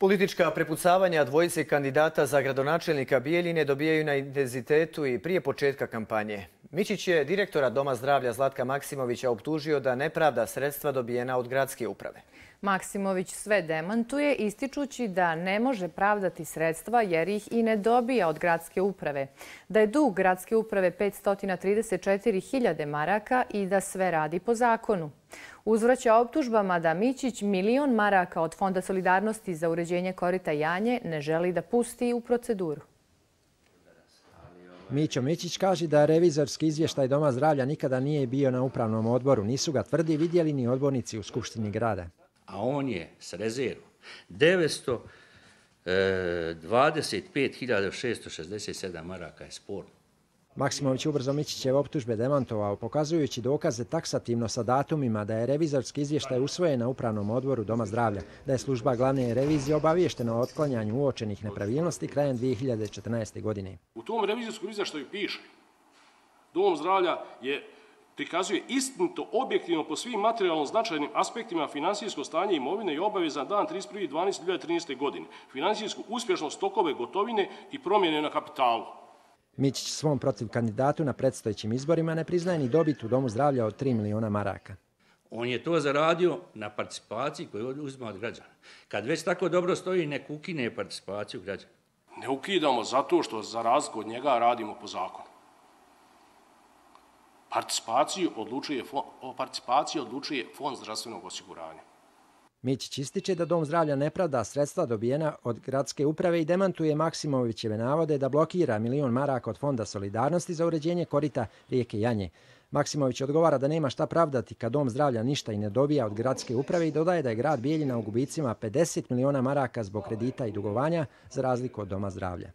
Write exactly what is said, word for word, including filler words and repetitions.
Politička prepucavanja dvojice kandidata za gradonačelnika Bijeljine dobijaju na intenzitetu i prije početka kampanje. Mičić je direktora Doma zdravlja Zlatka Maksimovića optužio da ne pravda sredstva dobijena od gradske uprave. Maksimović sve demantuje, ističući da ne može pravdati sredstva jer ih i ne dobija od gradske uprave. Da je dug gradske uprave petsto trideset četiri hiljade maraka i da sve radi po zakonu. Uzvraća optužbama da Mičić milion maraka od Fonda solidarnosti za uređenje korita Janje ne želi da pusti u proceduru. Mićo Mičić kaže da revizorski izvještaj Doma zdravlja nikada nije bio na upravnom odboru. Nisu ga, tvrdi, vidjeli ni odbornici u Skupštini grada. A on je s rezervom devetsto dvadeset pet hiljada šesto šezdeset sedam maraka je sporno. Maksimović ubrzo Mičićeve optužbe demantovao, pokazujući dokaze taksativno sa datumima da je revizorski izvještaj usvojen na upravnom odboru Doma zdravlja, da je služba glavne revizije obaviještena o otklanjanju uočenih nepravilnosti krajem dvije hiljade četrnaeste. godine. U tom revizorskom izvještaju piše: Dom zdravlja je prikazuje istinito, objektivno po svim materijalno značajnim aspektima finansijsko stanje imovine i obaveza na dan trideset prvi dvanaesti dvije hiljade trinaeste. godine, finansijsku uspješnost tokove gotovine i promjene na kapitalu. Mičić svom protiv kandidatu na predstojećim izborima ne priznaje ni dobit u Domu zdravlja od tri miliona maraka. On je to zaradio na participaciji koju uzima od građana. Kad već tako dobro stoji, nek ukine participaciju građana. Ne ukidamo zato što za razliku od njega radimo po zakonu. Participaciju odlučuje, o participaciji odlučuje Fond zdravstvenog osiguranja. Mičić ističe da Dom zdravlja ne pravda sredstva dobijena od gradske uprave i demantuje Maksimovićeve navode da blokira milion maraka od Fonda solidarnosti za uređenje korita rijeke Janje. Maksimović odgovara da nema šta pravdati kad Dom zdravlja ništa i ne dobija od gradske uprave i dodaje da je grad Bijeljina u gubicima pedeset miliona maraka zbog kredita i dugovanja za razliku od Doma zdravlja.